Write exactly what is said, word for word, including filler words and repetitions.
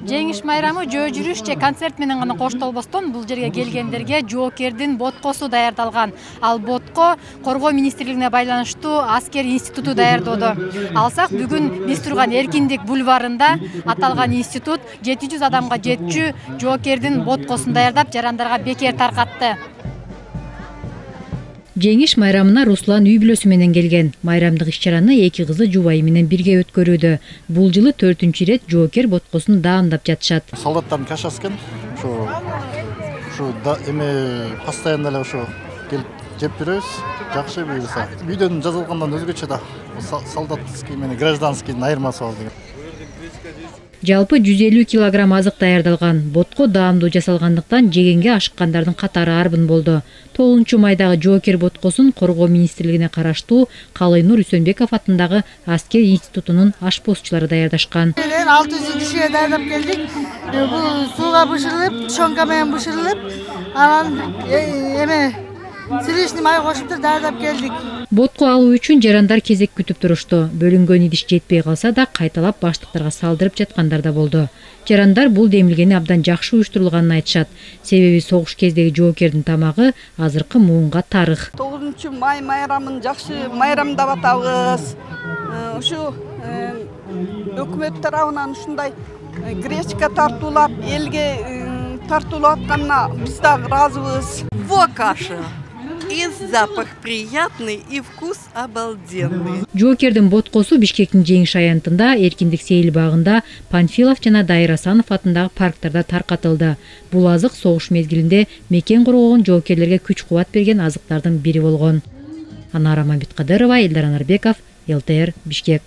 Жеңиш майрамы жөө жүрүш же концерт менен гана коштолбостон бул жерге келгендерге жоокердин боткосу даярдалган. Ал ботко Коргоо министрлигине байланыштуу аскер институту даярдоодо. Алсак бүгүн биз турган Эркиндик бульварында аталган институт жети жүз адамга жетчү жоокердин боткосун даярдап, жарандарга бекер таркатты. Жеңиш майрамына Руслан үй бүлөсү менен келген. Майрамдык иш-чараны эки кызы жубайы менен бирге өткөрүүдө. Бул жылы төртүнчү ирет жоокер боткосун даамдап жатышат. Солдаттардын кашасы экен. Ушу ушу эме постоянно эле ушу келип жеп жүрөбүз. Жакшы буюрса. Үйдөн жазылгандан өзгөчө да солдатский менен гражданскийдин айырмасы бар деген. Жалпы жүз элүү килограмм азык даярдалган. Ботко даамдуу жасалгандыктан жегенге ашыккандардын катары арбын болду. тогузунчу майдагы жоокер боткосун Коргоо министрлигине караштуу Калыйнур Үсөнбеков атындагы аскер институтунун ашпозчулары даярдашкан. алты жүз кишиге даярдап келдик. Бул сууга бышырылып, тушонка менен бышырылып, анан эме силишни май кошуп даярдап келдик. Ботко алуу үчүн жарандар кезек күтүп турушту. Бөлүнгөн идиш жетпей калса да кайталап баштыктарга салдырып жаткандар да болду. Жарандар бул демилгени абдан жакшы уюштурулганын айтышат. Себеби согуш кездеги жоокердин тамагы азыркы муунга тарых. тогузунчу май майрамын жакшы майрамдап атабыз. Ушу өкмөт тарабынан ушундай гречка тартуулап, элге тартуулап атканына биз дагы ыраазыбыз. Во каша. И запах приятный, и вкус обалденный. Жоокердин боткосу Бишкектин Жеңиш аянтында, Эркиндик сейил багында, Панфилов жана Дайыр Асанов атындагы парктарда таркатылды. Бул азык согуш мезгилинде мекен коргогон жоокерлерге күч кубат берген азыктардын бири болгон. Анара Мамбеткадырова, Элдар Анарбеков, эл тэ эр Бишкек.